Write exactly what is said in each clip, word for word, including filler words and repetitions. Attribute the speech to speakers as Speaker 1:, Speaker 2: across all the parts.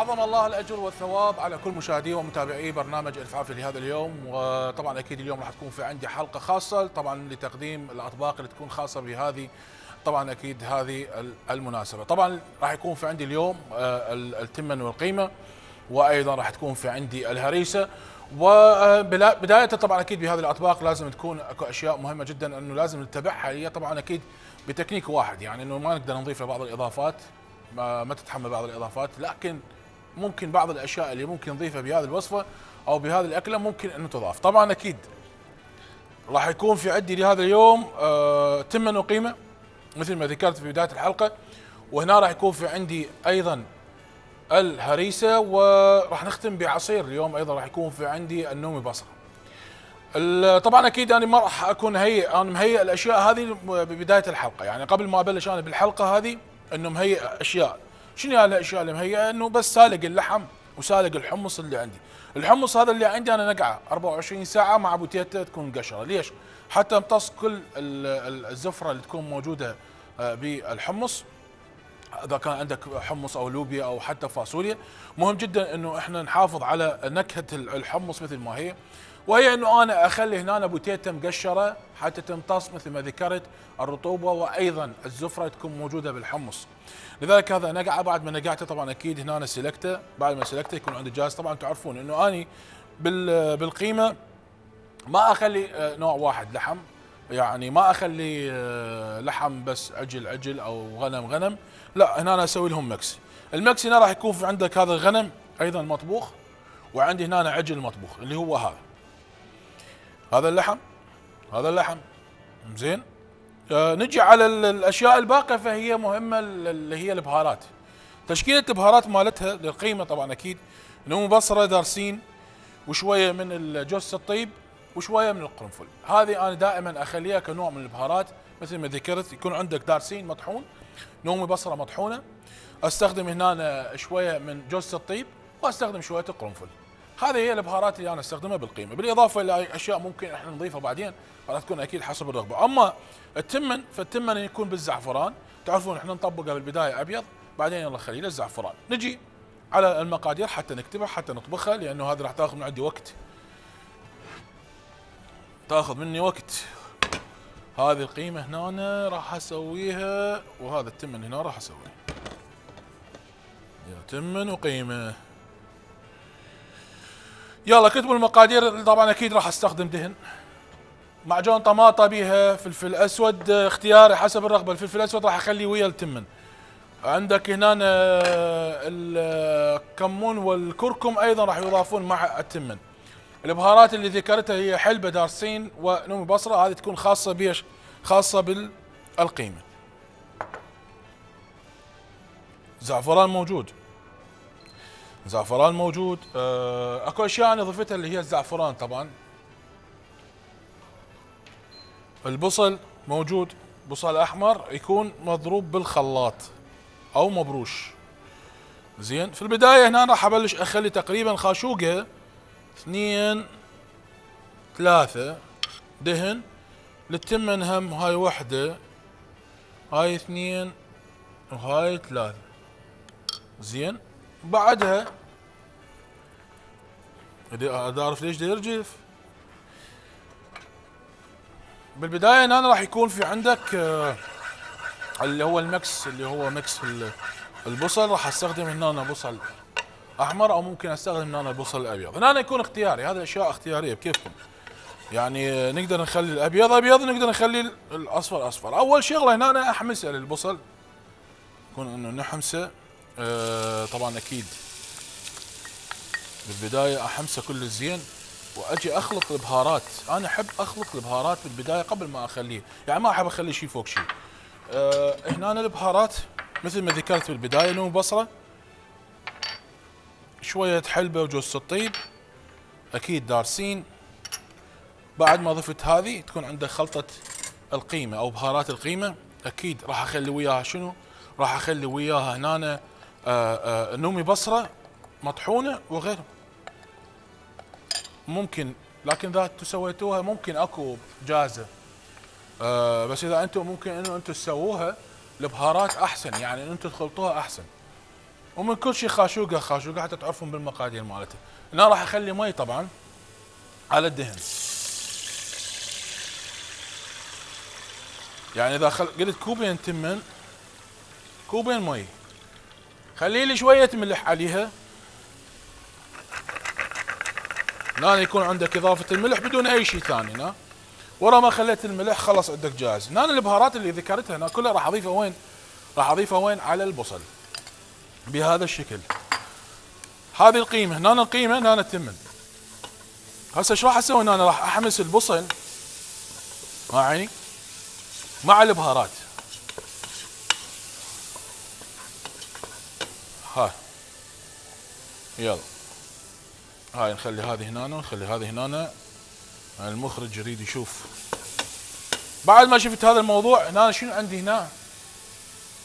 Speaker 1: عظم الله الاجر والثواب على كل مشاهدي ومتابعي برنامج الفافي لهذا اليوم، وطبعا اكيد اليوم راح تكون في عندي حلقه خاصه طبعا لتقديم الاطباق اللي تكون خاصه بهذه طبعا اكيد هذه المناسبه. طبعا راح يكون في عندي اليوم التمن والقيمه، وايضا راح تكون في عندي الهريسه. وبدايه طبعا اكيد بهذه الاطباق لازم تكون اكو اشياء مهمه جدا انه لازم نتبعها، هي طبعا اكيد بتكنيك واحد، يعني انه ما نقدر نضيف بعض الاضافات، ما, ما تتحمل بعض الاضافات، لكن ممكن بعض الاشياء اللي ممكن نضيفها بهذه الوصفه او بهذه الاكله ممكن انه تضاف. طبعا اكيد راح يكون في عندي لهذا اليوم آه تمن وقيمه مثل ما ذكرت في بدايه الحلقه، وهنا راح يكون في عندي ايضا الهريسه، وراح نختم بعصير اليوم ايضا راح يكون في عندي النومي بصره. طبعا اكيد انا ما راح اكون هيئ، انا مهيئ الاشياء هذه ببدايه الحلقه، يعني قبل ما ابلش انا بالحلقه هذه انه مهيئ اشياء. شنو هالاشياء اللي مهيئه؟ انه بس سالق اللحم وسالق الحمص اللي عندي. الحمص هذا اللي عندي انا نقعه أربعة وعشرين ساعه مع بوتيته تكون قشره. ليش؟ حتى امتص كل الزفره اللي تكون موجوده بالحمص، اذا كان عندك حمص او لوبيا او حتى فاصوليا. مهم جدا انه احنا نحافظ على نكهه الحمص مثل ما هي، وهي انه انا اخلي هنا بوتيته مقشره حتى تمتص مثل ما ذكرت الرطوبه وايضا الزفره تكون موجوده بالحمص. لذلك هذا نقعه. بعد ما نقعته طبعا اكيد هنا أنا سلكته، بعد ما سلكته يكون عندي جاهز. طبعا تعرفون انه اني بالقيمه ما اخلي نوع واحد لحم، يعني ما اخلي لحم بس عجل عجل او غنم غنم، لا هنا أنا اسوي لهم مكس. المكس هنا راح يكون في عندك هذا الغنم ايضا مطبوخ، وعندي هنا عجل مطبوخ اللي هو هذا هذا اللحم هذا اللحم زين. آه نجي على الاشياء الباقيه، فهي مهمه اللي هي البهارات. تشكيله البهارات مالتها للقيمه طبعا اكيد نوم بصره دارسين، وشويه من جوز الطيب، وشويه من القرنفل. هذه انا دائما اخليها كنوع من البهارات مثل ما ذكرت. يكون عندك دارسين مطحون، نومي بصره مطحونه، استخدم هنا شويه من جوز الطيب، واستخدم شويه القرنفل. هذه هي البهارات اللي انا استخدمها بالقيمه، بالاضافه الى اشياء ممكن احنا نضيفها بعدين راح تكون اكيد حسب الرغبه. اما التمن فالتمن يكون بالزعفران، تعرفون احنا نطبقه بالبدايه ابيض، بعدين يلا خليه الزعفران. نجي على المقادير حتى نكتبها حتى نطبخها، لانه هذه راح تاخذ من عندي وقت، تاخذ مني وقت. هذه القيمه هنا راح اسويها، وهذا التمن هنا راح اسويه. يا تمن وقيمه. يلا كتبوا المقادير. طبعا اكيد راح استخدم دهن، معجون طماطه بيها، فلفل اسود اختياري حسب الرغبه. الفلفل الاسود راح اخليه ويا التمن. عندك هنا الكمون والكركم ايضا راح يضافون مع التمن. البهارات اللي ذكرتها هي حلبه دارسين ونومي بصره، هذه تكون خاصه بيش؟ خاصه بالقيمه. زعفران موجود، زعفران موجود. آه، اكو اشياء انا ضفتها اللي هي الزعفران طبعا. البصل موجود، بصل احمر يكون مضروب بالخلاط او مبروش. زين، في البدايه هنا راح ابلش اخلي تقريبا خاشوقه اثنين ثلاثه دهن. للتمن هم هاي وحده، هاي اثنين، وهاي ثلاثه. زين، بعدها ادي اعرف ليش دا يرجف. بالبدايه هنا راح يكون في عندك آه اللي هو المكس، اللي هو مكس البصل. راح استخدم هنا بصل احمر، او ممكن استخدم هنا البصل الابيض. هنا يكون اختياري، هذه اشياء اختياريه بكيفكم. يعني نقدر نخلي الابيض ابيض، نقدر نخلي الاصفر اصفر. اول شغله هنا أنا احمسه للبصل، يكون انه نحمسه. آه طبعا اكيد بالبدايه احمسه كل الزين، واجي اخلط البهارات. انا احب اخلط البهارات بالبدايه قبل ما اخليه، يعني ما احب اخلي شيء فوق شيء. أه هنا البهارات مثل ما ذكرت بالبدايه، نوم بصره، شويه حلبه وجوز الطيب، اكيد دارسين. بعد ما ضفت هذه تكون عندك خلطه القيمه او بهارات القيمه. اكيد راح اخلي وياها شنو؟ راح اخلي وياها هنا أه أه نومي بصره مطحونه وغيره. ممكن، لكن اذا انتم سويتوها ممكن اكو جاهزه، أه بس اذا انتم ممكن انه انتم تسووها البهارات احسن، يعني انتم تخلطوها احسن. ومن كل شيء خاشوقه خاشوقه حتى تعرفون بالمقادير مالته. هنا راح اخلي مي طبعا على الدهن. يعني اذا خل... قلت كوبين تمن، كوبين مي، خلي لي شويه ملح عليها. هنا يكون عندك اضافه الملح بدون اي شيء ثاني. هنا ورا ما خليت الملح خلص عندك جاهز. هنا البهارات اللي ذكرتها هنا كلها راح اضيفها وين؟ راح اضيفها وين؟ على البصل بهذا الشكل. هذه القيمه، هنا القيمه، هنا التمن. هسه ايش راح اسوي؟ هنا راح احمس البصل مع عيني مع البهارات. هاي يلا، هاي نخلي هذه هنا ونخلي هذه هنا. المخرج يريد يشوف. بعد ما شفت هذا الموضوع هنا شنو عندي هنا؟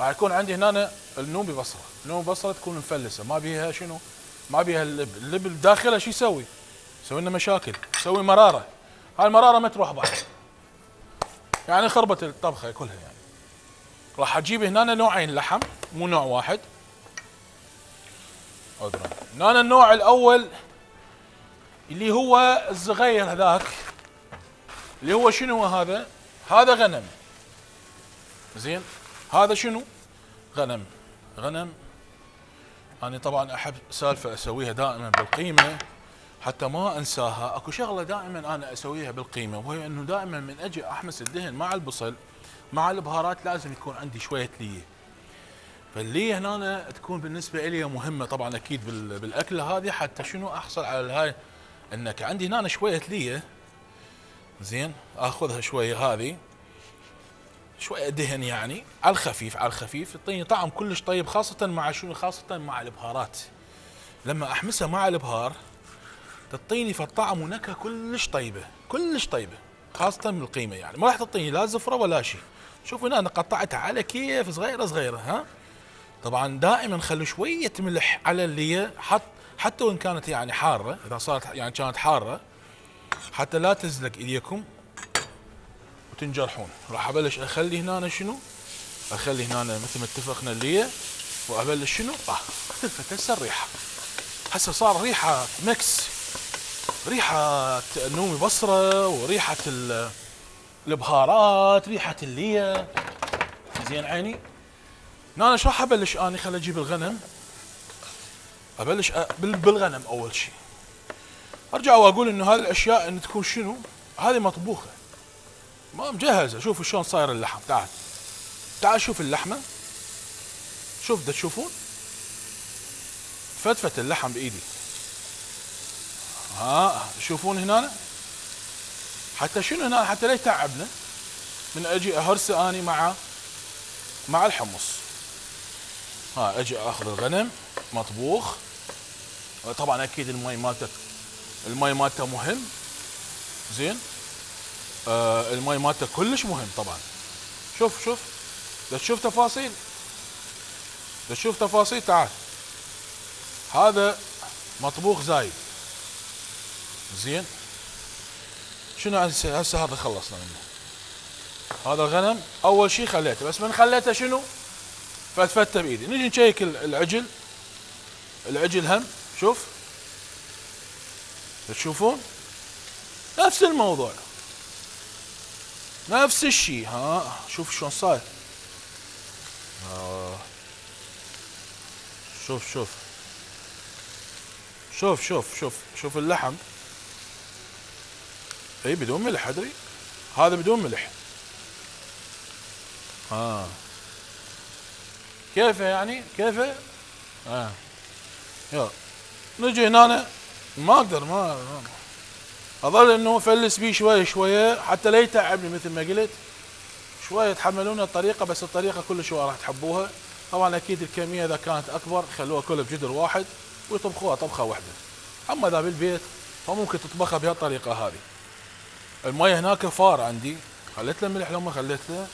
Speaker 1: راح يكون عندي هنا النوبي بصره، النوبي بصره تكون مفلسه ما بيها شنو؟ ما بيها اللب، اللب بداخلها شو يسوي؟ يسوي لنا مشاكل، يسوي مراره. هاي المراره ما تروح بعد. يعني خربت الطبخه كلها يعني. راح اجيب هنا نوعين لحم مو نوع واحد. هنا النوع الاول اللي هو الصغير هذاك، اللي هو شنو هذا؟ هذا غنم. زين؟ هذا شنو؟ غنم. غنم. انا طبعا احب سالفه اسويها دائما بالقيمه حتى ما انساها. اكو شغله دائما انا اسويها بالقيمه، وهي انه دائما من اجي احمس الدهن مع البصل مع البهارات لازم يكون عندي شويه ليه. فالليه هنا تكون بالنسبه لي مهمه طبعا اكيد بالاكله هذه، حتى شنو احصل على هاي انك عندي هنا شويه ليه. زين؟ اخذها شويه هذه شويه دهن يعني على الخفيف على الخفيف، تعطيني طعم كلش طيب، خاصه مع شنو؟ خاصه مع البهارات. لما احمسها مع البهار تعطيني فالطعم ونكهه كلش طيبه كلش طيبه، خاصه من القيمه يعني ما راح تعطيني لا زفره ولا شيء. شوفوا هنا انا قطعتها على كيف صغيره صغيره. ها طبعا دائما خلوا شويه ملح على اللي حط، حتى وان كانت يعني حاره، اذا صارت يعني كانت حاره حتى لا تزلق ايديكم وتنجرحون. راح ابلش اخلي هنا شنو؟ اخلي هنا مثل ما اتفقنا اللي وابلش شنو؟ اه اختلفت هسه الريحه. هسه صار ريحه ميكس، ريحه نومي بصره وريحه البهارات، ريحه الليه. زين عيني؟ هنا شو راح ابلش اني؟ خل اجيب الغنم، ابلش بالغنم اول شيء. ارجع واقول انه هذه الاشياء ان تكون شنو؟ هذه مطبوخه ما مجهزه. شوفوا شلون صاير اللحم. تعال تعال شوف اللحمه، شوف دا تشوفون فتفت اللحم بايدي. ها تشوفون هنا حتى شنو هنا؟ حتى لا يتعبنا من اجي اهرسه اني مع مع الحمص. ها اجي اخذ الغنم مطبوخ. طبعا اكيد المي مالته، المي مالته مهم. زين؟ آه المي مالته كلش مهم طبعا. شوف شوف دا تشوف تفاصيل، دا تشوف تفاصيل. تعال هذا مطبوخ زايد. زين؟ شنو هسه؟ هسه هذا خلصنا منه. هذا الغنم اول شيء خليته، بس من خليته شنو؟ فتفته بايدي. نجي نشيك العجل، العجل هم شوف تشوفون نفس الموضوع نفس الشيء. ها شوف شلون صاير. آه. شوف شوف شوف شوف شوف شوف اللحم. اي بدون ملح ادري، هذا بدون ملح. ها كيفه يعني؟ كيفه؟ اه يلا نجي هنا. ما اقدر ما اظل انه افلس بيه شويه شويه حتى لا يتعبني مثل ما قلت. شويه تحملون الطريقه، بس الطريقه كل شويه راح تحبوها. طبعا اكيد الكميه اذا كانت اكبر خلوها كلها بجدر واحد ويطبخوها طبخه واحده. اما اذا بالبيت فممكن تطبخها بهالطريقه هذه. المي هناك فار عندي، خليت له ملح لو ما خليت له.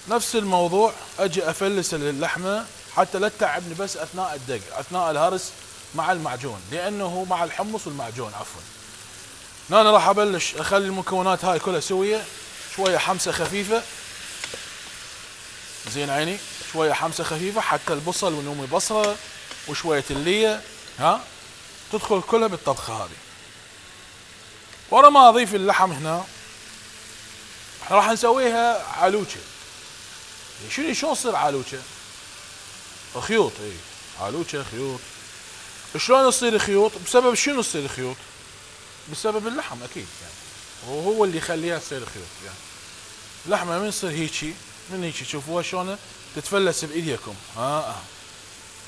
Speaker 1: نفس الموضوع اجي افلس اللحمه حتى لا تتعبني بس اثناء الدق، اثناء الهرس مع المعجون، لانه مع الحمص والمعجون عفوا. هنا أنا راح ابلش اخلي المكونات هاي كلها سويه، شويه حمسه خفيفه. زين عيني؟ شويه حمسه خفيفه حتى البصل والنومي بصره وشويه الليه، ها تدخل كلها بالطبخه هذه. ورا ما اضيف اللحم هنا راح نسويها علوچه. شنو شلون تصير علوچه؟ خيوط. اي علوچه خيوط. شلون تصير خيوط؟ بسبب شنو تصير خيوط؟ بسبب اللحم اكيد يعني، وهو اللي يخليها تصير خيوط يعني. اللحمه من تصير هيجي، من هيجي تشوفوها شلون تتفلس بايديكم، ها آه.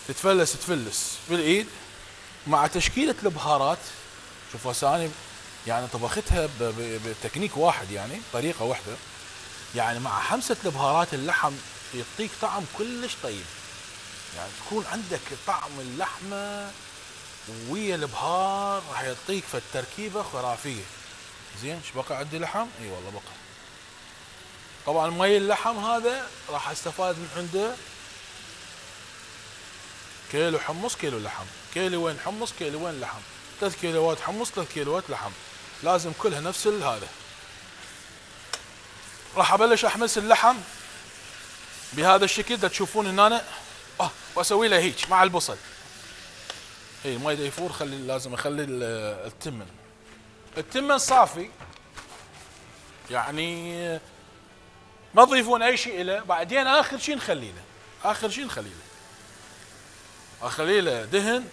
Speaker 1: تتفلس تفلس بالايد مع تشكيله البهارات. شوفوا هسه اني يعني طبختها بتكنيك واحد يعني طريقه واحده، يعني مع حمسه البهارات اللحم يعطيك طعم كلش طيب. يعني تكون عندك طعم اللحمه ويا البهار راح يعطيك فالتركيبه خرافيه. زين ايش بقى عندي لحم؟ اي والله بقى. طبعا مي اللحم هذا راح استفاد من عنده كيلو حمص كيلو لحم، كيلو وين حمص كيلو وين لحم، ثلاث كيلوات حمص ثلاث كيلوات لحم، لازم كلها نفس هذا. راح ابلش احمس اللحم بهذا الشكل دا تشوفون ان انا اه واسوي له هيك مع البصل. اي المي دا يفور، خلي لازم اخلي التمن التمن صافي يعني ما تضيفون اي شيء له. بعدين اخر شيء نخلي له، اخر شيء نخلي له اخلي له دهن.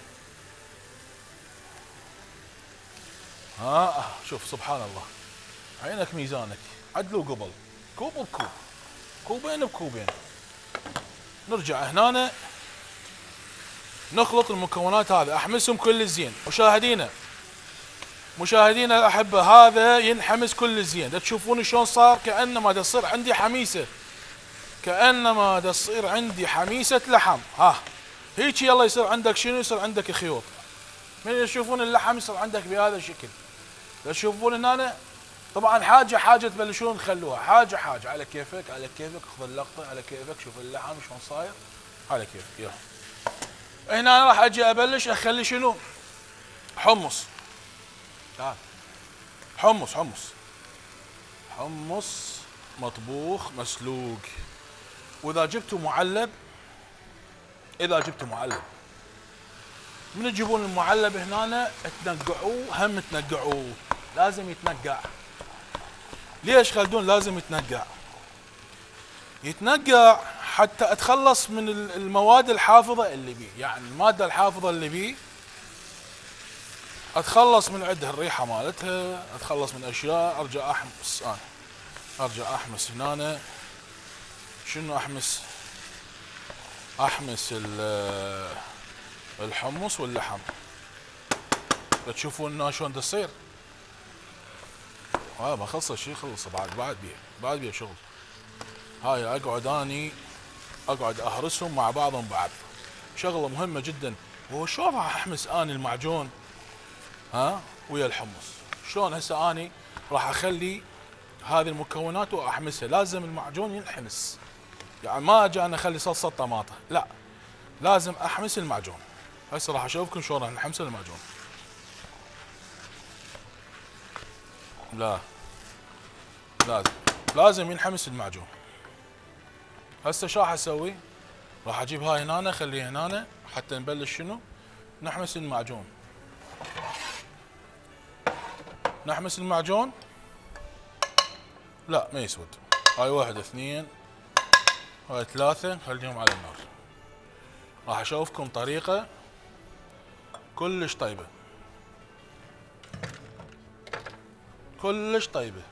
Speaker 1: ها شوف سبحان الله، عينك ميزانك، عدلوا قبل كوب بكوب، كوبين بكوبين. نرجع هنا نخلط المكونات هذه، احمسهم كل زين. مشاهدينا مشاهدينا الاحبه، هذا ينحمس كل زين. دا تشوفون شلون صار كانما دا تصير عندي حميسه، كانما دا تصير عندي حميسه لحم. ها هيك يلا يصير عندك شنو؟ يصير عندك خيوط. من تشوفون اللحم يصير عندك بهذا الشكل. دا تشوفون ان انا طبعا حاجه حاجه تبلشون تخلوها، حاجه حاجه على كيفك على كيفك، خذ اللقطه على كيفك. شوف اللحم شلون صاير على كيفك. يلا هنا راح اجي ابلش اخلي شنو؟ حمص. تعال حمص حمص حمص مطبوخ مسلوق. واذا جبتوا معلب، اذا جبتوا معلب من تجيبون المعلب هنا تنقعوه، هم تنقعوه لازم يتنقع. ليش خلدون لازم يتنقع؟ يتنقع حتى اتخلص من المواد الحافظه اللي بيه، يعني الماده الحافظه اللي بيه اتخلص من عندها، الريحه مالتها، اتخلص من اشياء. ارجع احمس انا ارجع احمس هنا. شنو احمس؟ احمس الحمص واللحم. بتشوفون شلون تصير. اه ما خلص الشيء، خلص بعد بعد بيه بعد بيه شغل. هاي اقعد اني اقعد اهرسهم مع بعضهم بعض، شغله مهمه جدا. وهو شلون راح احمس اني المعجون ها ويا الحمص؟ شلون هسه اني راح اخلي هذه المكونات واحمسها؟ لازم المعجون ينحمس، يعني ما اجي انا اخلي صلصه طماطه، لا لازم احمس المعجون. هسه راح اشوفكم شلون راح نحمس المعجون. لا لازم لازم ينحمس المعجون. هسه شو راح اسوي؟ راح اجيب هاي هنا اخليها هنا حتى نبلش شنو؟ نحمس المعجون. نحمس المعجون. لا ما يسود. هاي واحد اثنين هاي ثلاثة، خليهم على النار. راح اشوفكم طريقة كلش طيبة كلش طيبة.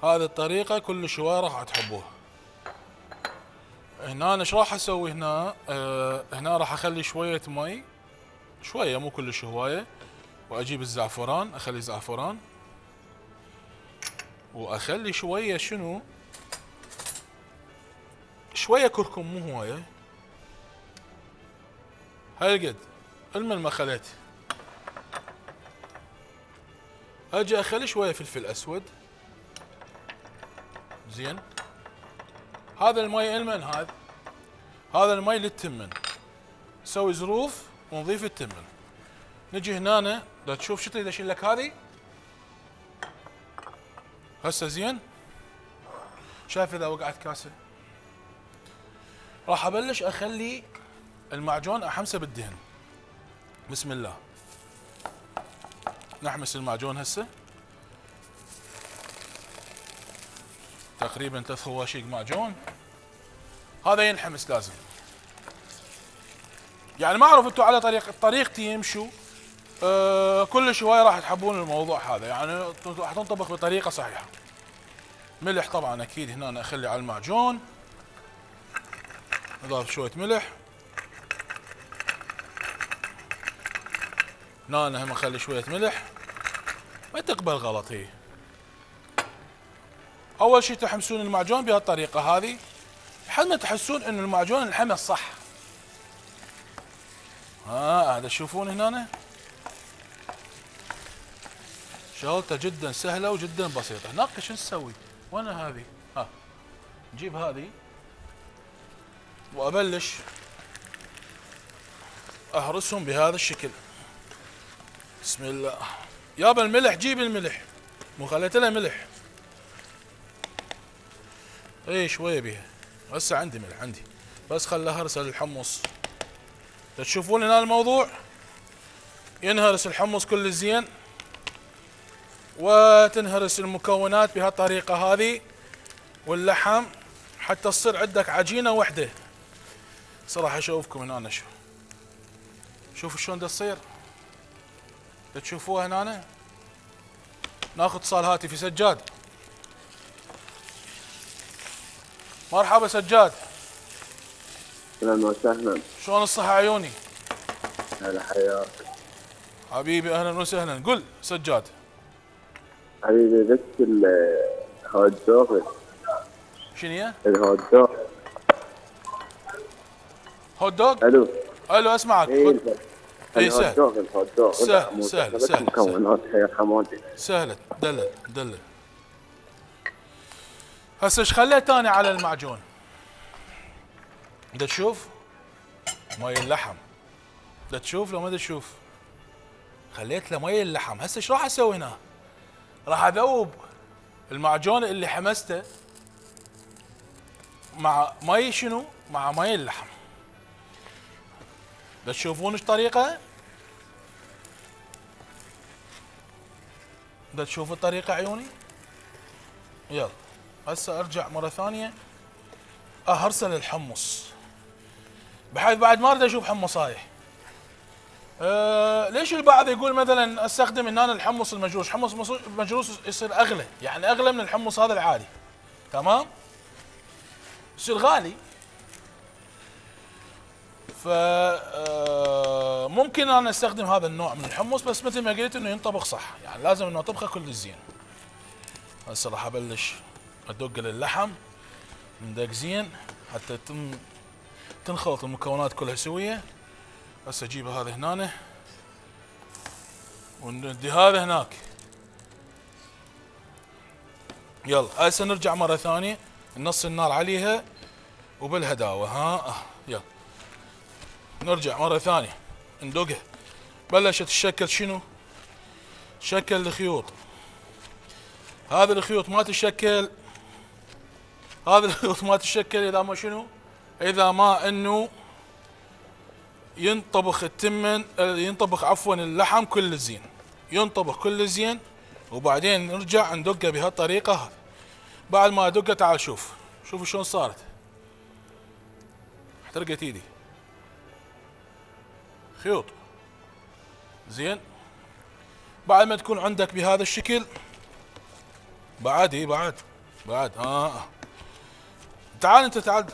Speaker 1: هذه الطريقة كلش هواي راح تحبوها. هنا انا ايش راح اسوي هنا؟ آه هنا راح اخلي شوية مي، شوية مو كلش هواية، واجيب الزعفران، اخلي زعفران، واخلي شوية شنو؟ شوية كركم مو هواية، هالقد المن ما خليت. اجي اخلي شوية فلفل اسود. زين هذا المي المن، هذا هذا المي للتمن. نسوي زروف ونضيف التمن. نجي هنا دا تشوف شو تريد اشيل لك هذه هسه. زين شايف اذا وقعت كاسه؟ راح ابلش اخلي المعجون احمسه بالدهن. بسم الله. نحمس المعجون هسه تقريبا ثلاث خواشيق معجون. هذا ينحمس لازم. يعني ما اعرف انتم على طريق طريقتي يمشوا أه كل شوي راح تحبون الموضوع هذا، يعني راح تنطبخ بطريقه صحيحه. ملح طبعا اكيد هنا أنا اخلي على المعجون، اضاف شويه ملح. هنا أنا هم اخلي شويه ملح، ما تقبل غلط. هي اول شيء تحمسون المعجون بهالطريقه هذه لحد ما تحسون ان المعجون انحمس صح. ها هذا تشوفون هنا شغلته جدا سهله وجدا بسيطه. هناك شو نسوي؟ وين هذه؟ ها نجيب هذه وابلش اهرسهم بهذا الشكل. بسم الله. يابا الملح جيب الملح، مو خليت لها ملح. اي شويه بيها. هسه عندي ملح عندي، بس خلها هرسه للحمص. تشوفون هنا الموضوع ينهرس الحمص كل زين وتنهرس المكونات بهالطريقه هذه واللحم حتى تصير عندك عجينه وحده. صراحه اشوفكم هنا أنا شو شوفوا شلون تصير. تشوفوها هنا. ناخذ اتصال هاتفي. سجاد. مرحبا سجاد.
Speaker 2: اهلا وسهلا.
Speaker 1: شلون الصحة عيوني؟
Speaker 2: هلا حياك
Speaker 1: حبيبي اهلا وسهلا. قل سجاد.
Speaker 2: حبيبي بس الهوت دوغ.
Speaker 1: شنو هي؟
Speaker 2: الهوت دوغ.
Speaker 1: هوت دوغ؟
Speaker 2: الو
Speaker 1: الو اسمعك.
Speaker 2: اي
Speaker 1: قل. اي
Speaker 2: الهوت
Speaker 1: سهل
Speaker 2: دوغ الهوت دوغ
Speaker 1: سهل سهل سهل
Speaker 2: مكونات يا حمودي.
Speaker 1: سهلة. دلل دلل. هسه ايش خليت انا على المعجون؟ دا تشوف؟ مي اللحم. دا تشوف لو ما دا تشوف؟ خليت له مي اللحم. هسه ايش راح اسوي هنا؟ راح اذوب المعجون اللي حمسته مع مي شنو؟ مع مي اللحم. دا تشوفون ايش طريقة؟ دا تشوفوا الطريقة عيوني؟ يلا هسه ارجع مرة ثانية اهرسل الحمص بحيث بعد ما اريد اشوف حمصايه. أه ليش البعض يقول مثلا استخدم هنا الحمص المجروش؟ حمص مجروش يصير اغلى، يعني اغلى من الحمص هذا العادي. تمام؟ يصير غالي. ف أه ممكن انا استخدم هذا النوع من الحمص، بس مثل ما قلت انه ينطبخ صح، يعني لازم انه طبخه كل زين. هسه راح ابلش ادق للحم ندق زين حتى تم تنخلط المكونات كلها سويه. هسه اجيب هذا هنا وندي هذا هناك. يلا هسه نرجع مره ثانيه نص النار عليها وبالهداوه. ها يلا نرجع مره ثانيه ندقها. بلشت تشكل شنو؟ تشكل الخيوط. هذه الخيوط ما تشكل هذه الخيوط ما تشكل اذا ما شنو؟ اذا ما انه ينطبخ التمن ينطبخ عفوا اللحم كل زين، ينطبخ كل زين وبعدين نرجع ندقه بهالطريقه هذه. بعد ما ادقه تعال شوف شوفوا شلون صارت. احترقت ايدي. خيوط زين. بعد ما تكون عندك بهذا الشكل بعد اي بعد بعد اه تعال انت تعال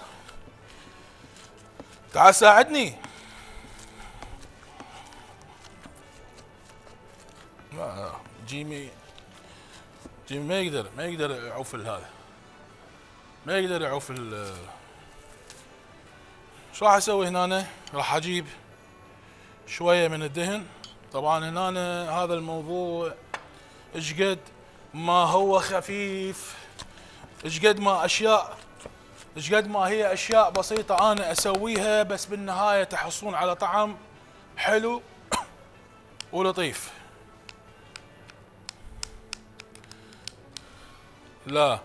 Speaker 1: تعال ساعدني. ما جيمي جيمي ما يقدر ما يقدر يعوف هذا، ما يقدر يعوف ال. شو راح اسوي هنا؟ راح اجيب شويه من الدهن. طبعا هنا هذا الموضوع ايش قد ما هو خفيف، ايش قد ما اشياء ايش قد ما هي اشياء بسيطه انا اسويها، بس بالنهايه تحصلون على طعم حلو ولطيف. لا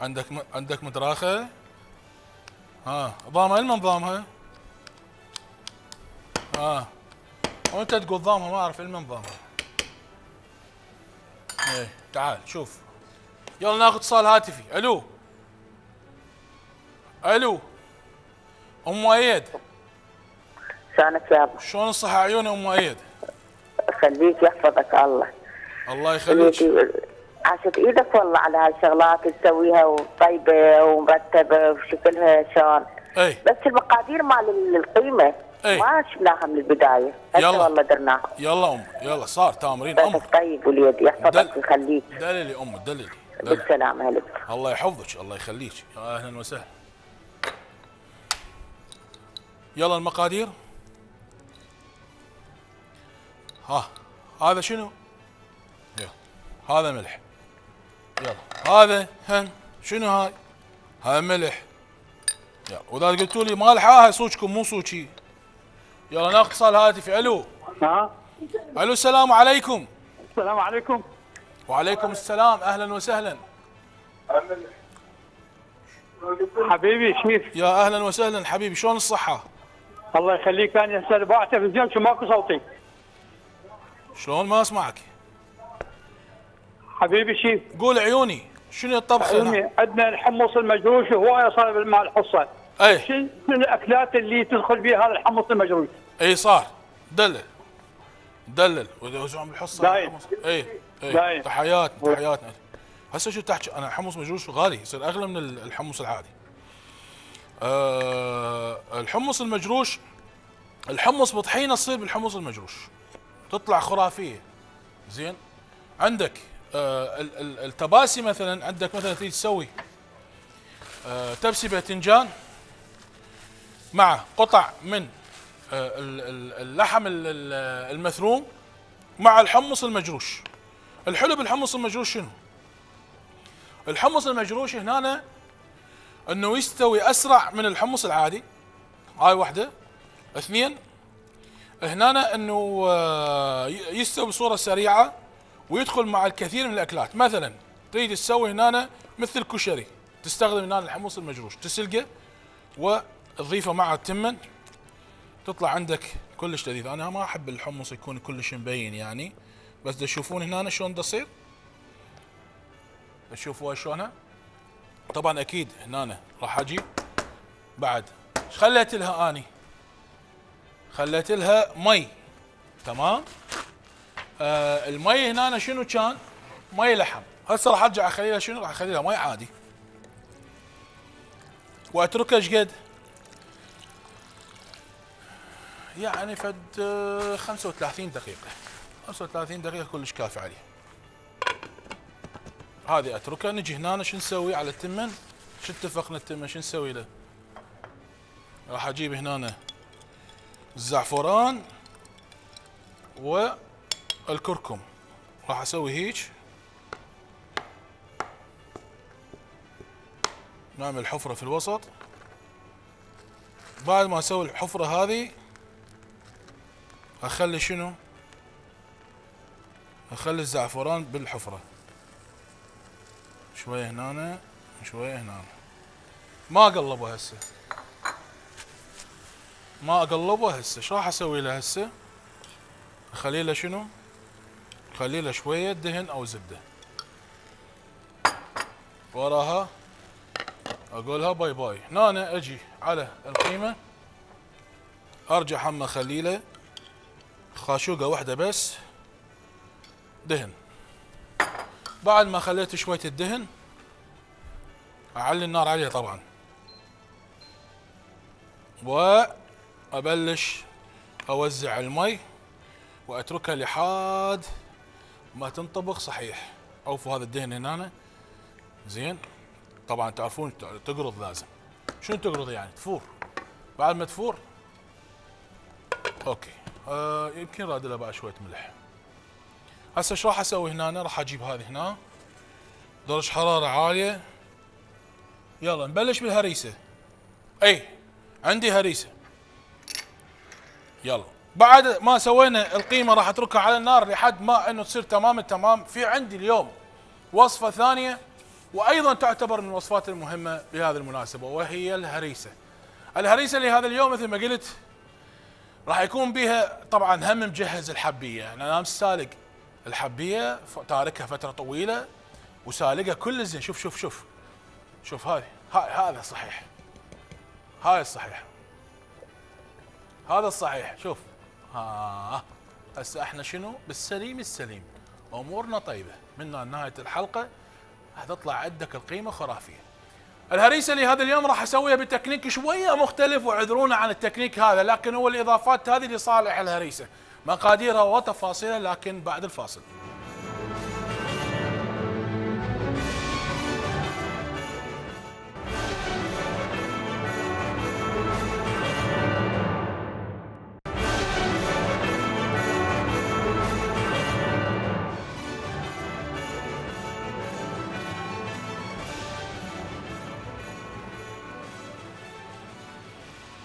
Speaker 1: عندك م... عندك مدراخه؟ ها ضامها لما نظامها؟ اه وانت تقول ضامها ما اعرف من ضامها. ايه تعال شوف. يلا ناخذ اتصال هاتفي. الو الو ام مؤيد.
Speaker 3: شلونك يابا؟
Speaker 1: شلون الصحة عيوني ام مؤيد؟
Speaker 3: خليك يحفظك الله.
Speaker 1: الله يخليك.
Speaker 3: عاشت ايدك والله على هالشغلات تسويها وطيبه ومرتبه وشكلها شلون.
Speaker 1: اي
Speaker 3: بس المقادير مال القيمه
Speaker 1: اي
Speaker 3: ما شفناها من البدايه، هسه والله درناها.
Speaker 1: يلا ام يلا صار تامرين ام.
Speaker 3: طيب وليد يحفظك ويخليك.
Speaker 1: دللي ام دللي.
Speaker 3: بالسلامه هلا.
Speaker 1: الله يحفظك الله يخليك. يا اهلا وسهلا. يلا المقادير. ها هذا شنو؟ يلا هذا ملح. يلا هذا هن شنو هاي؟ هاي ملح. يلا واذا قلتوا لي مالحه هاي صوتكم مو صوتي. يلا ناخذ اتصال هاتفي. الو
Speaker 4: ها
Speaker 1: الو السلام عليكم.
Speaker 4: السلام عليكم.
Speaker 1: وعليكم السلام اهلا وسهلا.
Speaker 4: حبيبي شريف.
Speaker 1: يا اهلا وسهلا حبيبي شلون الصحه؟
Speaker 4: الله يخليك. انا هسه باع تلفزيون شو ماكو صوتي.
Speaker 1: شلون ما اسمعك؟
Speaker 4: حبيبي شريف.
Speaker 1: قول عيوني شنو الطبخ هنا؟
Speaker 4: عندنا الحمص المجروش وهوايه صار مع الحصه.
Speaker 1: اي
Speaker 4: شنو الاكلات اللي تدخل بها هذا الحمص المجروش؟
Speaker 1: اي صار دلل دلل وزعم الحصه.
Speaker 4: دايم.
Speaker 1: اي اي تحياتنا تحياتنا. هسه شو تحكي؟ انا حمص مجروش غالي يصير اغلى من الحمص العادي. أه الحمص المجروش الحمص بطحينه تصير بالحمص المجروش تطلع خرافيه. زين عندك أه التباسي مثلا. عندك مثلا تريد تسوي أه تبسي باذنجان مع قطع من أه اللحم المثروم مع الحمص المجروش. الحلو بالحمص المجروش شنو؟ الحمص المجروش هنا انه يستوي اسرع من الحمص العادي. هاي واحده. اثنين هنا انه يستوي بصوره سريعه ويدخل مع الكثير من الاكلات. مثلا تريد تسوي هنا مثل الكشري تستخدم هنا الحمص المجروش تسلقه وتضيفه مع التمن تطلع عندك كلش لذيذ. انا ما احب الحمص يكون كلش مبين يعني بس تشوفون هنا شلون تصير. تشوفوها شلونها. طبعا اكيد هنا راح اجي بعد خليت لها اني خليت لها مي. تمام. آه المي هنا شنو كان؟ مي لحم. هسه راح ارجع اخلي لها شنو؟ راح اخلي لها مي عادي واتركها ايش قد؟ يعني فد خمسة وثلاثين دقيقة. خمسة وثلاثين دقيقة كلش كافي عليه. هذه اتركها. نجي هنا شو نسوي على التمن؟ شو اتفقنا التمن شو نسوي له؟ راح اجيب هنا الزعفران والكركم. راح اسوي هيك نعمل حفرة في الوسط. بعد ما اسوي الحفرة هذه اخلي شنو؟ اخلي الزعفران بالحفرة شوية هنا شوية هنا. ما اقلبه هسه ما اقلبه هسه. شو راح اسوي له هسه؟ اخلي له شنو؟ اخلي له شوية دهن او زبدة. وراها اقولها باي باي. هنا اجي على القيمة ارجع هم اخلي له خاشوقة واحدة بس دهن. بعد ما خليت شوية الدهن اعلي النار عليها طبعا وابلش اوزع المي واتركها لحد ما تنطبخ صحيح. اوفوا هذا الدهن هنا. زين. طبعا تعرفون تقرض لازم. شنو تقرض يعني؟ تفور. بعد ما تفور اوكي آه يمكن راد لها بعد شوية ملح. هسه شو راح اسوي هنا؟ راح اجيب هذه هنا درجة حرارة عالية. يلا نبلش بالهريسة. اي عندي هريسة. يلا بعد ما سوينا القيمة راح اتركها على النار لحد ما انه تصير تمام التمام. في عندي اليوم وصفة ثانية وايضا تعتبر من الوصفات المهمة بهذه المناسبة وهي الهريسة. الهريسة لهذا اليوم مثل ما قلت راح يكون بها طبعا هم مجهز الحبيه، يعني انا سالق الحبيه تاركها فتره طويله وسالقها كل زين. شوف شوف شوف شوف هذه هذا صحيح، هاي الصحيح، هذا الصحيح. شوف ها هسه احنا شنو بالسليم السليم، امورنا طيبه من نهايه الحلقه راح تطلع عندك القيمه خرافيه. الهريسه اللي هذا اليوم راح اسويها بتكنيك شويه مختلف، واعذرونا عن التكنيك هذا، لكن هو الاضافات هذه لصالح الهريسه، مقاديرها وتفاصيلها لكن بعد الفاصل.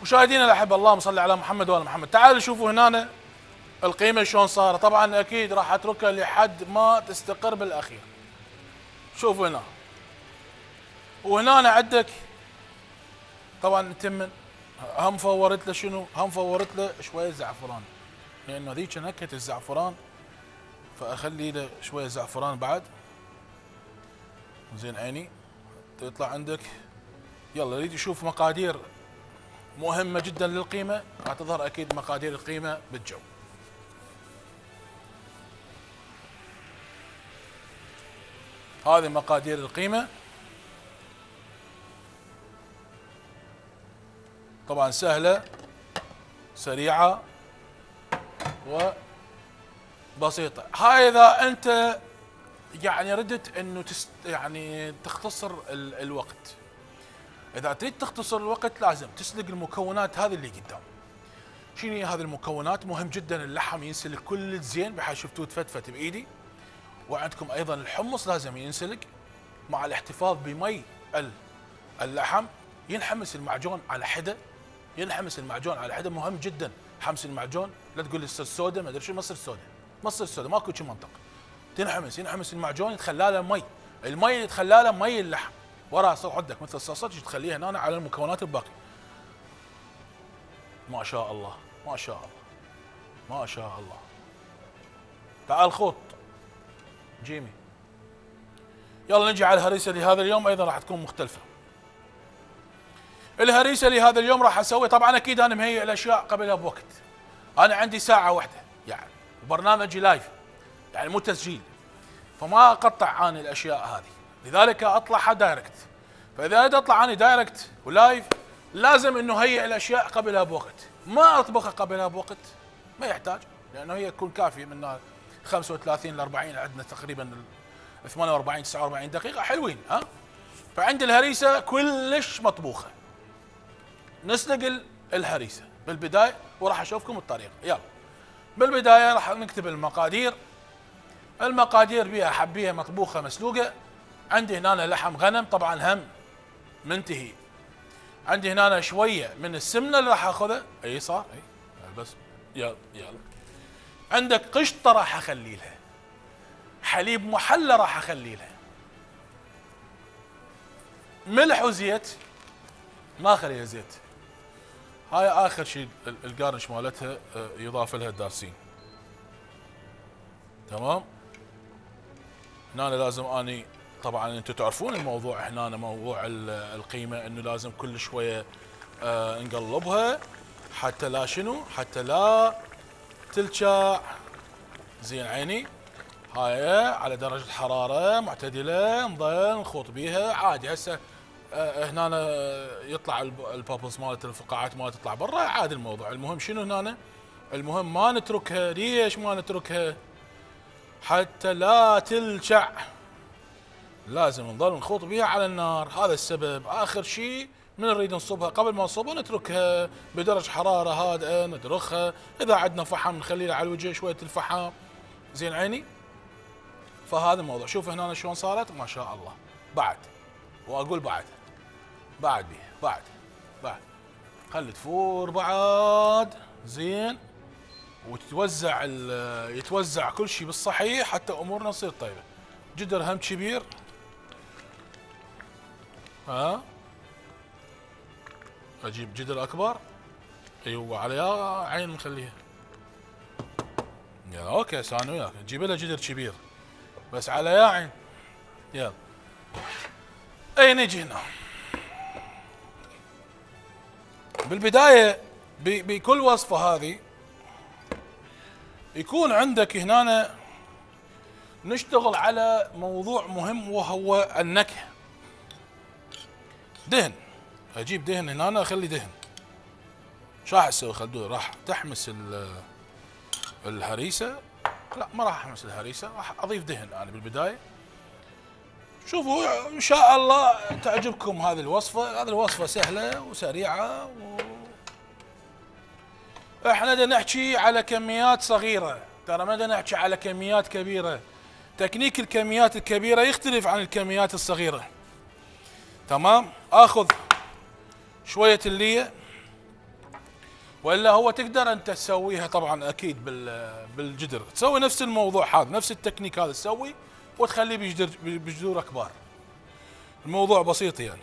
Speaker 1: مشاهدينا الاحبه، اللهم صل على محمد وال محمد. تعالوا شوفوا هنا القيمه شلون صارت. طبعا اكيد راح اتركها لحد ما تستقر بالاخير. شوفوا هنا وهنا عندك طبعا تمن، هم فورت له شنو؟ هم فورت له شويه زعفران، لانه ذيك نكهه الزعفران فاخلي له شويه زعفران بعد. زين عيني تطلع عندك. يلا اريد اشوف مقادير مهمة جدا للقيمة، راح تظهر اكيد مقادير القيمة بالجو. هذه مقادير القيمة، طبعا سهلة سريعة وبسيطة. هاي اذا انت يعني ردت انه تست يعني تختصر ال الوقت. إذا تريد تختصر الوقت لازم تسلق المكونات هذه اللي قدام. شنو هي هذه المكونات؟ مهم جدا اللحم ينسلق كل زين بحيث شفتوه تفتفت بايدي. وعندكم ايضا الحمص لازم ينسلق مع الاحتفاظ بمي اللحم. ينحمس المعجون على حده، ينحمس المعجون على حده، مهم جدا حمس المعجون. لا تقول لي يصير سودا ما ادري شو، ما تصير سودا، ما تصير سودا، ماكو شي منطق. تنحمس ينحمس المعجون يتخلى له مي، المي اللي يتخلى له مي اللحم. وراها صار عندك مثل الصلصه تخليها هنا على المكونات الباقيه. ما شاء الله ما شاء الله ما شاء الله. تعال خوط جيمي. يلا نجي على الهريسه لهذا اليوم، ايضا راح تكون مختلفه. الهريسه لهذا اليوم راح اسوي، طبعا اكيد انا مهيئ الاشياء قبلها بوقت. انا عندي ساعه واحده يعني، وبرنامجي لايف يعني مو تسجيل، فما اقطع انا الاشياء هذه، لذلك اطلعها دايركت. فاذا اريد اطلع انا دايركت ولايف لازم انه هيئ الاشياء قبلها بوقت. ما اطبخها قبلها بوقت ما يحتاج، لانه هي تكون كافيه من خمسة وثلاثين ل أربعين، عندنا تقريبا ثمانية وأربعين تسعة وأربعين دقيقه حلوين ها. فعندي الهريسه كلش مطبوخه. نسلق الهريسه بالبدايه وراح اشوفكم الطريقه. يلا بالبدايه راح نكتب المقادير. المقادير بها حبيه مطبوخه مسلوقه. عندي هنا لحم غنم طبعا هم منتهي. عندي هنا شويه من السمنه اللي راح اخذها. اي صار اي بس يلا يلا. عندك قشطه راح اخلي لها. حليب محلى راح اخلي لها. ملح وزيت ما اخليها زيت. هاي اخر شيء القارنش مالتها يضاف لها الدارسين. تمام. هنا لازم اني طبعا انتم تعرفون الموضوع هنا موضوع القيمه انه لازم كل شويه آه نقلبها حتى لا شنو؟ حتى لا تلشع. زين عيني. هاي على درجه حراره معتدله نظل نخوط بيها عادي. هسه آه هنا يطلع البابلز مالت الفقاعات مالت تطلع برا عادي الموضوع. المهم شنو هنا؟ المهم ما نتركها. ليش ما نتركها؟ حتى لا تلشع. لازم نظل نخوط بها على النار. هذا السبب. اخر شيء من نريد نصبها قبل ما نصبها نتركها بدرجه حراره هادئه ندرخها. اذا عندنا فحم نخلي على الوجه شويه الفحم. زين عيني. فهذا الموضوع. شوف هنا شلون صارت ما شاء الله. بعد واقول بعد بعد بيها بعد بعد خلي تفور بعد. زين. وتتوزع يتوزع كل شيء بالصحيح حتى امورنا تصير طيبه. جدر هم كبير ها. اجيب جدر اكبر ايوه على يا عين نخليها. يا اوكي سانو وياك نجيب لها جدر كبير بس على يا عين. يلا اي نجي هنا. بالبدايه بكل وصفه هذه يكون عندك هنا نشتغل على موضوع مهم وهو النكهه. دهن، اجيب دهن هنا اخلي دهن. شو راح اسوي خلدون؟ راح تحمس الهريسه. لا ما راح احمس الهريسه، راح اضيف دهن انا بالبدايه. شوفوا ان شاء الله تعجبكم هذه الوصفه، هذه الوصفه سهله وسريعه و... احنا بدنا نحكي على كميات صغيره، ترى ما بدنا نحكي على كميات كبيره. تكنيك الكميات الكبيره يختلف عن الكميات الصغيره. تمام؟ اخذ شويه الليه، والا هو تقدر انت تسويها طبعا اكيد بالجدر، تسوي نفس الموضوع هذا، نفس التكنيك هذا تسوي وتخليه بجدر بجذور كبار. الموضوع بسيط يعني.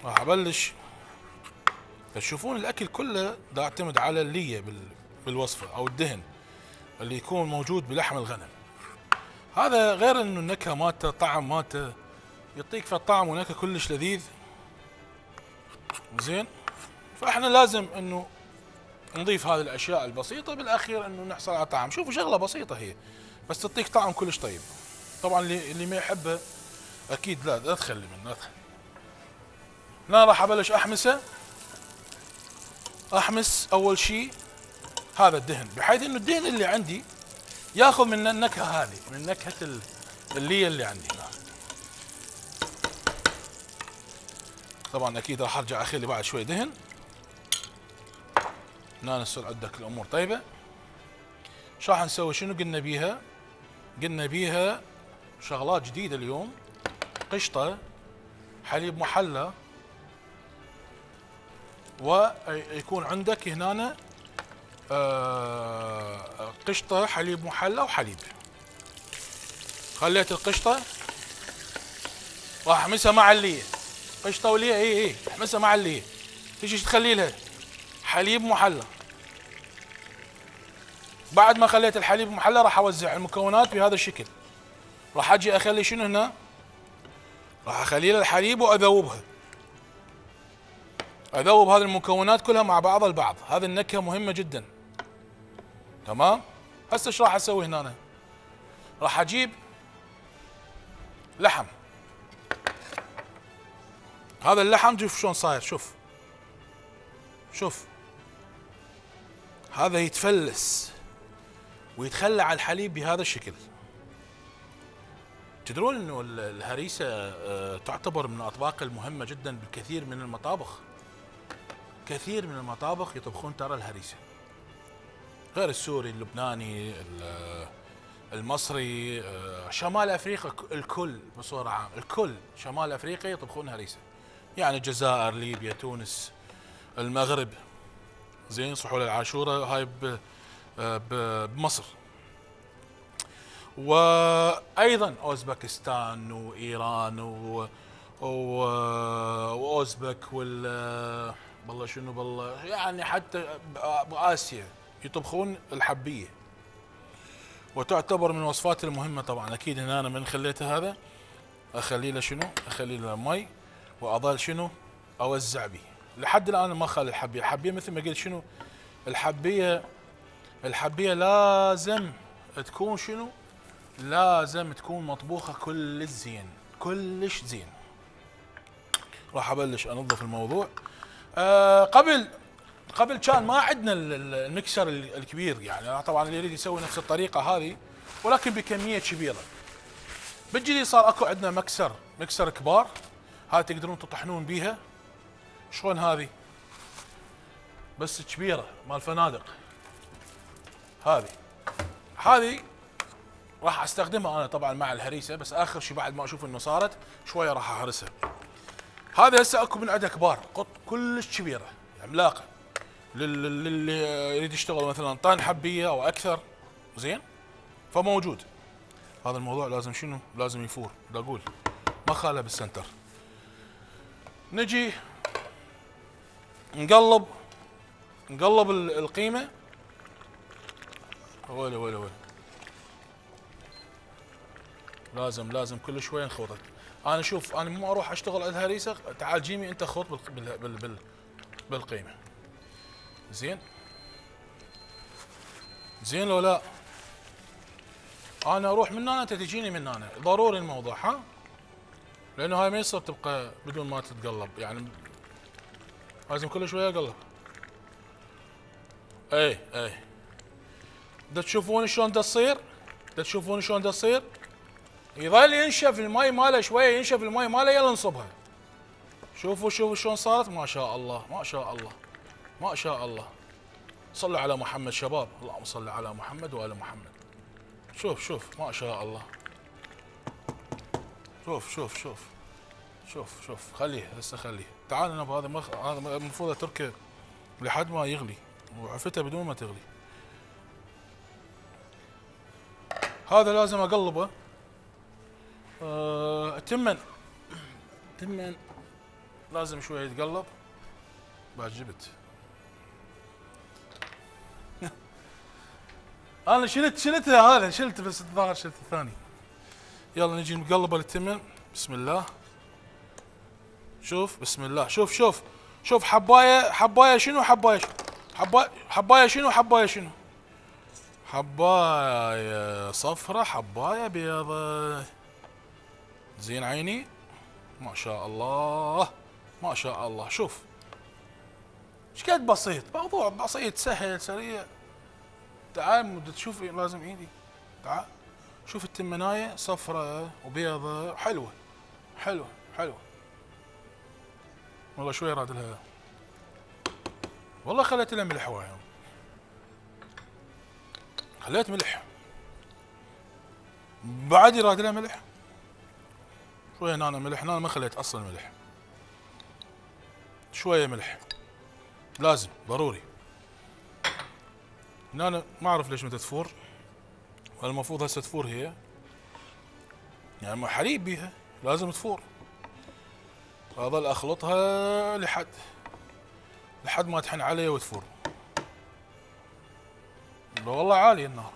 Speaker 1: راح ابلش. تشوفون الاكل كله دا يعتمد على الليه بالوصفه او الدهن اللي يكون موجود بلحم الغنم. هذا غير انه النكهه مالته، طعم مالته يعطيك في الطعم ونكهه كلش لذيذ. زين؟ فاحنا لازم انه نضيف هذه الاشياء البسيطه، بالاخير انه نحصل على طعم. شوفوا شغله بسيطه هي بس تعطيك طعم كلش طيب. طبعا اللي اللي ما يحبه اكيد لا لا تخلي منه، لا تخلي. هنا راح ابلش احمسه. احمس اول شيء هذا الدهن، بحيث انه الدهن اللي عندي ياخذ من النكهه هذه، من نكهه اللي اللي عندي هنا. طبعا اكيد راح ارجع اخلي بعد شوي دهن. هنا نصير عندك الامور طيبه. شو راح نسوي؟ شنو قلنا بيها؟ قلنا بيها شغلات جديده اليوم. قشطه، حليب محلى، ويكون عندك هنا آه قشطه، حليب محلى وحليب. خليت القشطه راح احمسها مع الليه. قشطه وليه اي اي احمسها مع الليه. تيجي تخلي لها حليب محلى. بعد ما خليت الحليب محلى راح اوزع المكونات بهذا الشكل. راح اجي اخلي شنو هنا؟ راح اخلي لها الحليب واذوبها. اذوب هذه المكونات كلها مع بعضها البعض، هذه النكهه مهمه جدا. تمام؟ هسه ايش راح اسوي هنا؟ راح اجيب لحم. هذا اللحم شوف شلون صاير، شوف شوف هذا يتفلس ويتخلى على الحليب بهذا الشكل. تدرون انه الهريسه تعتبر من الاطباق المهمه جدا بالكثير من المطابخ. كثير من المطابخ يطبخون ترى الهريسه، غير السوري، اللبناني، المصري، شمال افريقيا الكل بصوره عامه، الكل شمال افريقيا يطبخون هريسه. يعني الجزائر، ليبيا، تونس، المغرب، زين، صحول العاشوره هاي بمصر، وايضا اوزبكستان وايران و واوزبك وال بالله شنو بالله، يعني حتى باسيا يطبخون الحبيه، وتعتبر من الوصفات المهمه. طبعا اكيد هنا انا من خليته هذا اخلي له شنو؟ اخلي له مي، واظل شنو؟ اوزع به. لحد الان ما خلي الحبيه، الحبيه مثل ما قلت شنو؟ الحبيه الحبيه لازم تكون شنو؟ لازم تكون مطبوخه كلش زين، كلش زين. راح ابلش انظف الموضوع. آه قبل قبل كان ما عندنا المكسر الكبير، يعني طبعا اللي يريد يسوي نفس الطريقه هذه ولكن بكميه كبيره. بالجديد صار اكو عندنا مكسر مكسر كبار، هاي تقدرون تطحنون بيها. شلون هذه؟ بس كبيره مال فنادق. هذه هذه راح استخدمها انا طبعا مع الهريسه، بس اخر شيء بعد ما اشوف انه صارت شويه راح اهرسها. هذا هسه اكو من عندها كبار، قط كلش كبيره عملاقه للي يريد يشتغل مثلا طن حبيه او اكثر، زين؟ فموجود. هذا الموضوع لازم شنو؟ لازم يفور، بدي اقول ما خاله بالسنتر. نجي نقلب نقلب القيمه. ولا ولا ولا لازم لازم كل شويه نخوضك. انا شوف انا مو اروح اشتغل على الهريسه، تعال جيمي انت خوض بال بال بال بالقيمه. زين زين لو لا انا اروح من هنا انت تجيني من هنا، ضروري الموضوع ها، لانه هاي ما يصير تبقى بدون ما تتقلب، يعني لازم كل شويه اقلب. اي اي دا تشوفون شلون دا تصير؟ دا تشوفون شلون دا تصير؟ يظل ينشف المي ماله شويه، ينشف المي ماله يلا نصبها. شوفوا شوفوا شلون صارت، ما شاء الله ما شاء الله ما شاء الله. صلوا على محمد شباب، اللهم صل على محمد وآل محمد. شوف شوف ما شاء الله. شوف شوف شوف شوف شوف خليه هسه خليه. تعال انا بهذا مخ... هذا المفروض اتركه لحد ما يغلي، وعفته بدون ما تغلي. هذا لازم اقلبه. أه... التمن التمن لازم شويه يتقلب. بعد جبت انا شلت شلتها هذا شلت بس الظاهر شلت الثاني. يلا نجي نقلبه التمن. بسم الله. شوف بسم الله. شوف شوف شوف حبايه حبايه شنو حبايه حبايه حبايه شنو حبايه شنو حبايه صفرة حبايه بيضة. زين عيني ما شاء الله ما شاء الله. شوف ايش قد بسيط، موضوع بسيط سهل سريع. تعال تشوف لازم ايدي. تعال شوف التمنايه صفرة وبيضة حلوه حلوه حلوه. والله شوي راد لها، والله خليت لها ملح وايد، خليت ملح بعد يراد لها ملح شويه. هنا ملح، هنا ما خليت اصلا ملح، شويه ملح لازم ضروري. هنا ما اعرف ليش متى تفور، المفروض هسه تفور هي، يعني حليب بيها لازم تفور. اظل اخلطها لحد لحد ما تحن علي وتفور. والله عالي النار،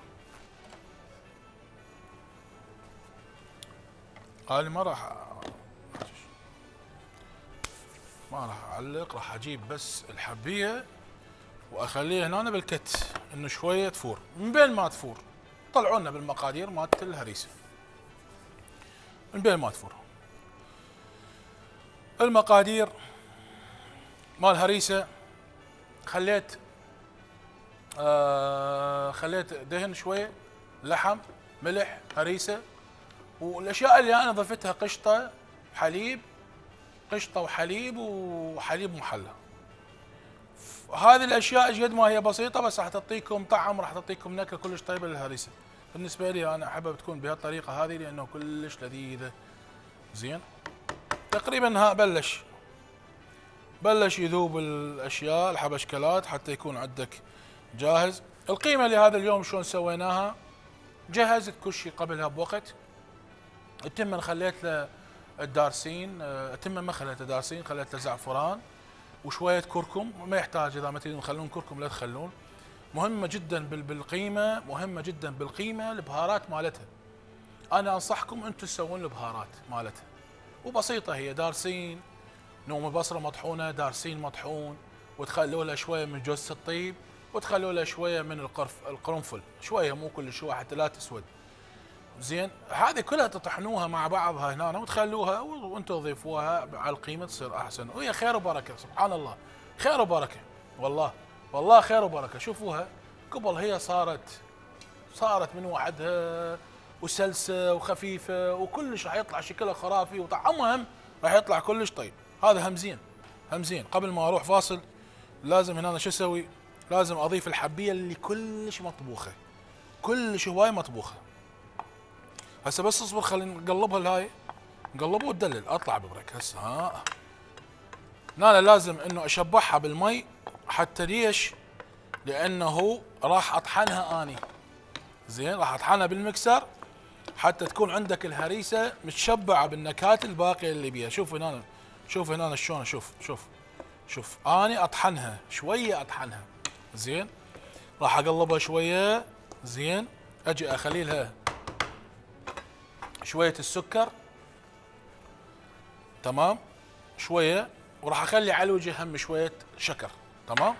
Speaker 1: عالي. ما راح ما راح اعلق، راح اجيب بس الحبيه واخليها هنا بالكت انه شويه تفور. من بين ما تفور طلعوا لنا بالمقادير مالت الهريسه. من بين ما تفور المقادير مال هريسه، خليت آه خليت دهن شويه، لحم، ملح، هريسه، والاشياء اللي انا ضفتها قشطه، حليب، قشطه وحليب وحليب محلى. هذه الاشياء قد ما هي بسيطه بس راح تعطيكم طعم، راح تعطيكم نكهه كلش طيبه للهريسه. بالنسبه لي انا احبها بتكون بهالطريقه هذه لانه كلش لذيذه. زين تقريبا ها بلش بلش يذوب الاشياء الحبشكلات حتى يكون عندك جاهز. القيمه لهذا اليوم شلون سويناها؟ جهزت كل شيء قبلها بوقت. التمن خليت له الدارسين، التمن ما خليته دارسين، خليت له زعفران وشويه كركم، ما يحتاج اذا ما تريدون تخلون كركم لا تخلون. مهمه جدا بالقيمه، مهمه جدا بالقيمه البهارات مالتها. انا انصحكم انتم تسوون البهارات مالتها، وبسيطه هي دارسين، نوم بصره مطحونه، دارسين مطحون، وتخلوا لها شويه من جوز الطيب، وتخلوا لها شويه من القرف القرنفل، شويه مو كل شويه حتى لا تسود. زين هذه كلها تطحنوها مع بعضها هنا وتخلوها وانتم تضيفوها على القيمه تصير احسن، وهي خير وبركه. سبحان الله خير وبركه، والله والله خير وبركه. شوفوها قبل هي صارت صارت من وحدها وسلسه وخفيفه وكلش راح يطلع شكلها خرافي، وطعمها هم راح يطلع كلش طيب. هذا هم زين هم زين. قبل ما اروح فاصل لازم هنا شو اسوي؟ لازم اضيف الحبيه اللي كلش مطبوخه، كلش هواي مطبوخه. هسه بس اصبر خلينا نقلبها الهاي، نقلبها وتدلل اطلع ببرك هسه. ها هنا لازم انه اشبعها بالمي. حتى ليش؟ لانه راح اطحنها اني. زين راح اطحنها بالمكسر حتى تكون عندك الهريسه متشبعه بالنكهات الباقيه اللي بيها. شوف هنا شوف هنا شلون، شوف شوف شوف اني اطحنها شويه، اطحنها زين، راح اقلبها شويه زين، اجي اخلي لها شويه السكر تمام شويه، وراح اخلي على الوجه هم شويه شكر تمام.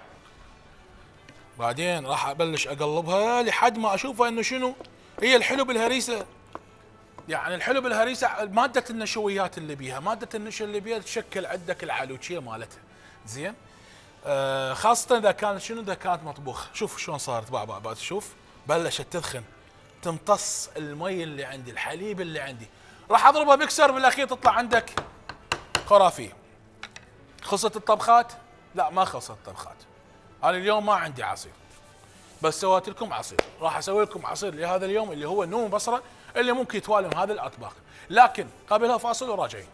Speaker 1: بعدين راح ابلش اقلبها لحد ما اشوفها انه شنو هي الحلو بالهريسه. يعني الحلو بالهريسه ماده النشويات اللي بيها، ماده النشا اللي بيها تشكل عندك العلوشيه مالتها زين. آه خاصه اذا كانت شنو اذا كانت مطبوخه. شوف شلون صارت باع باع باع، شوف بلشت تدخن، تمتص المي اللي عندي، الحليب اللي عندي. راح اضربها مكسر بالاخير تطلع عندك خرافيه. خلصت الطبخات؟ لا ما خلصت الطبخات. انا اليوم ما عندي عصير، بس سويت لكم عصير. راح اسوي لكم عصير لهذا اليوم اللي هو نوم بصره، اللي ممكن يتوالم هذه الاطباق. لكن قبلها فاصل وراجعين.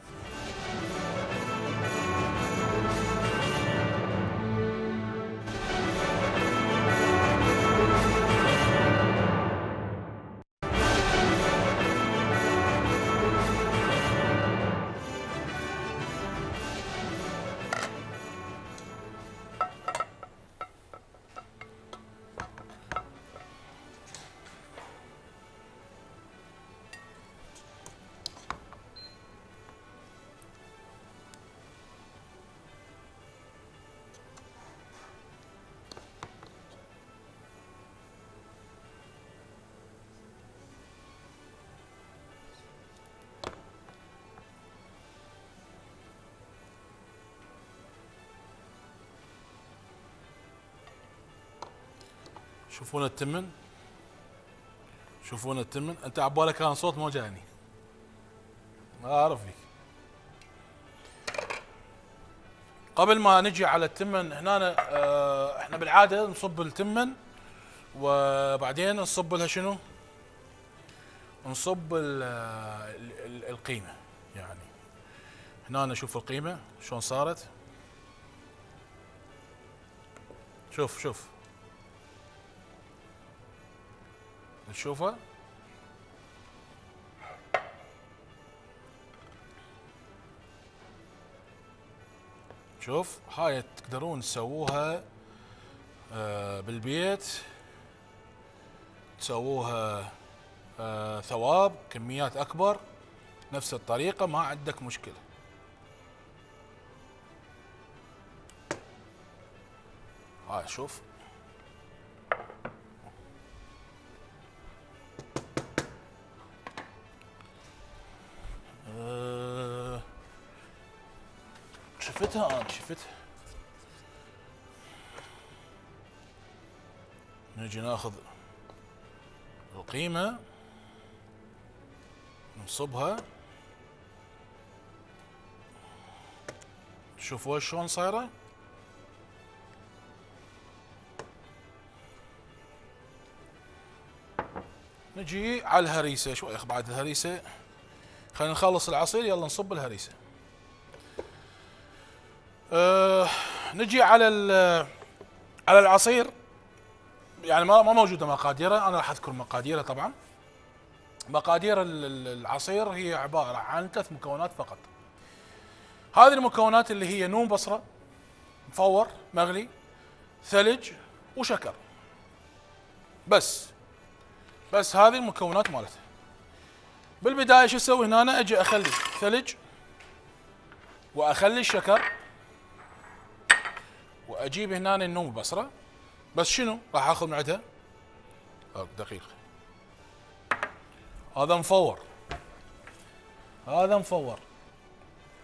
Speaker 1: شوفون التمن، شوفون التمن. انت عبالك كان صوت مو جاني، ما اعرف فيك. قبل ما نجي على التمن هنا، اه احنا بالعاده نصب التمن وبعدين نصب لها شنو؟ نصب ال ال القيمه. يعني هنا نشوف القيمه شلون صارت. شوف شوف تشوفها، شوف هاي تقدرون تسووها آه بالبيت، تسووها آه ثواب كميات اكبر نفس الطريقة، ما عندك مشكلة. هاي شوف أه شفتها انا شفتها. نجي ناخذ القيمة نصبها، شوفوا شلون صايرة. نجي على الهريسة شوي بعد الهريسة، خلينا نخلص العصير يلا نصب الهريسة. أه نجي على على العصير. يعني ما ما موجودة مقاديره، انا راح اذكر مقاديره طبعا. مقادير العصير هي عبارة عن ثلاث مكونات فقط. هذه المكونات اللي هي نوم بصرة مفور مغلي، ثلج وشكر، بس بس هذه المكونات مالتها. بالبداية شو اسوي هنا؟ أنا اجي اخلي ثلج واخلي الشكر واجيب هنا النوم بصرة، بس شنو راح اخذ من عندها دقيقة. هذا مفور، هذا مفور.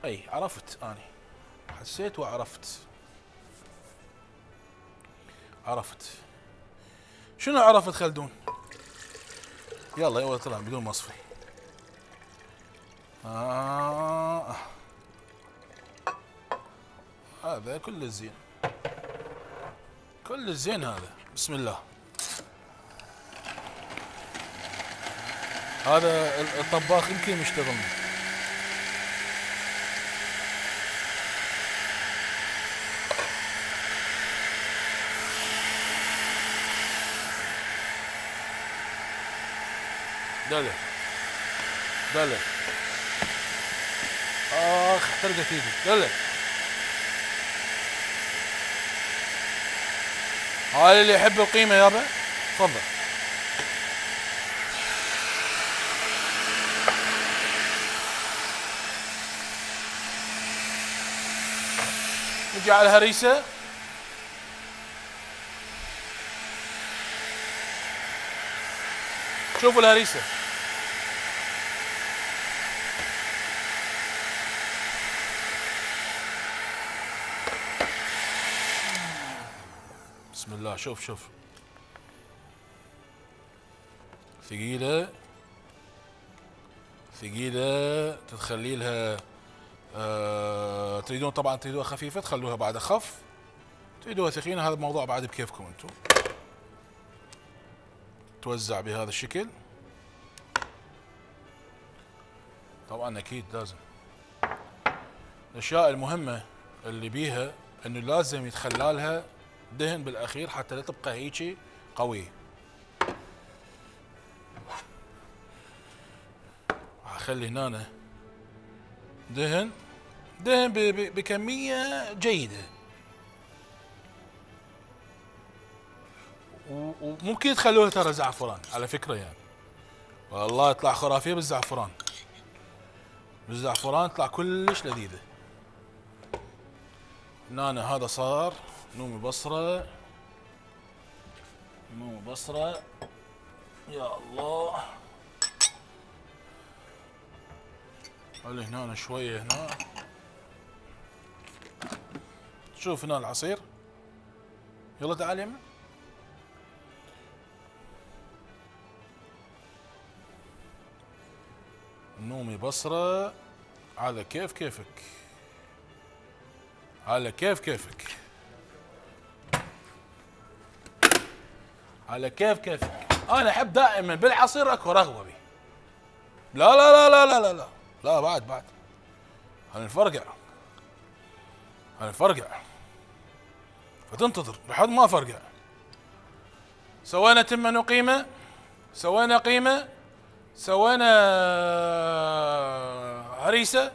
Speaker 1: اي عرفت، اني حسيت وعرفت عرفت شنو عرفت خلدون؟ يلا يلا طلع بدون مصفي. آه. هذا كل الزين، كل الزين هذا. بسم الله. هذا الطباخ يمكن مشتغلنا. دلع دلع اخ احترقت ايدي. دلع هاي اللي يحب القيمه يابا تفضل. نجي على الهريسه. شوفوا الهريسه. بسم الله. شوف شوف ثقيلة ثقيلة تخلي لها آه تريدون طبعا تريدوها خفيفة تخلوها بعد أخف، تريدوها ثقيلة هذا الموضوع بعد بكيفكم انتم. توزع بهذا الشكل. طبعا أكيد لازم الأشياء المهمة اللي بيها إنه لازم يتخلى لها دهن بالاخير حتى لا تبقى هيجي قويه. اخلي هنا دهن دهن بكميه جيده، وممكن تخلوها ترى زعفران على فكره يعني، والله يطلع خرافيه بالزعفران. بالزعفران تطلع كلش لذيذه. هنا هذا صار نومي بصرة نومي بصرة يا الله. خلي هنا شوية هنا. شوف هنا العصير. يلا تعال يمه. نومي بصرة على كيف كيفك على كيف كيفك على كيف كيفك. انا احب دائما بالعصير اكو رغوه بي. لا لا لا لا لا لا لا لا بعد بعد هنفرقع هنفرقع فتنتظر لحد ما فرقع. سوينا تمن وقيمه، سوينا قيمه، سوينا هريسه،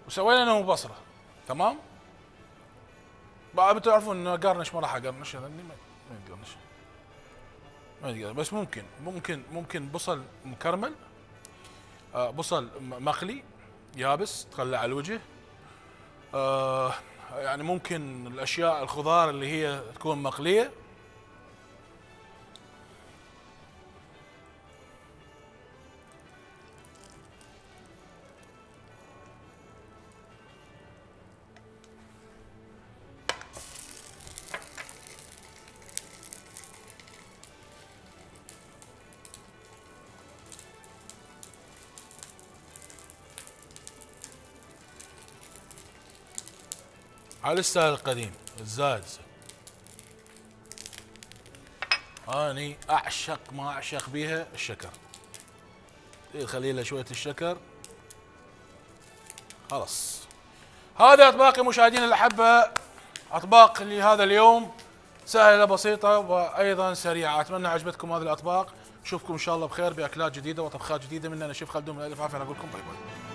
Speaker 1: وسوينا نوم بصره. تمام؟ بعد بتعرفون انه قرنش ما راح اقرنش، هذا ما يقرنش ما يقرنش، بس ممكن ممكن ممكن بصل مكرمل، آه بصل مقلي يابس تخلى على الوجه، آه يعني ممكن الاشياء الخضار اللي هي تكون مقليه. على الستايل القديم الزايد. اني اعشق ما اعشق بيها الشكر. خلي لها شويه الشكر خلاص. هذه اطباقي مشاهدينا الاحبه، اطباق لهذا اليوم سهله بسيطه وايضا سريعه. اتمنى عجبتكم هذه الاطباق. نشوفكم ان شاء الله بخير باكلات جديده وطبخات جديده. من انا شيف خلدون من الف عافيه. اقول لكم باي باي.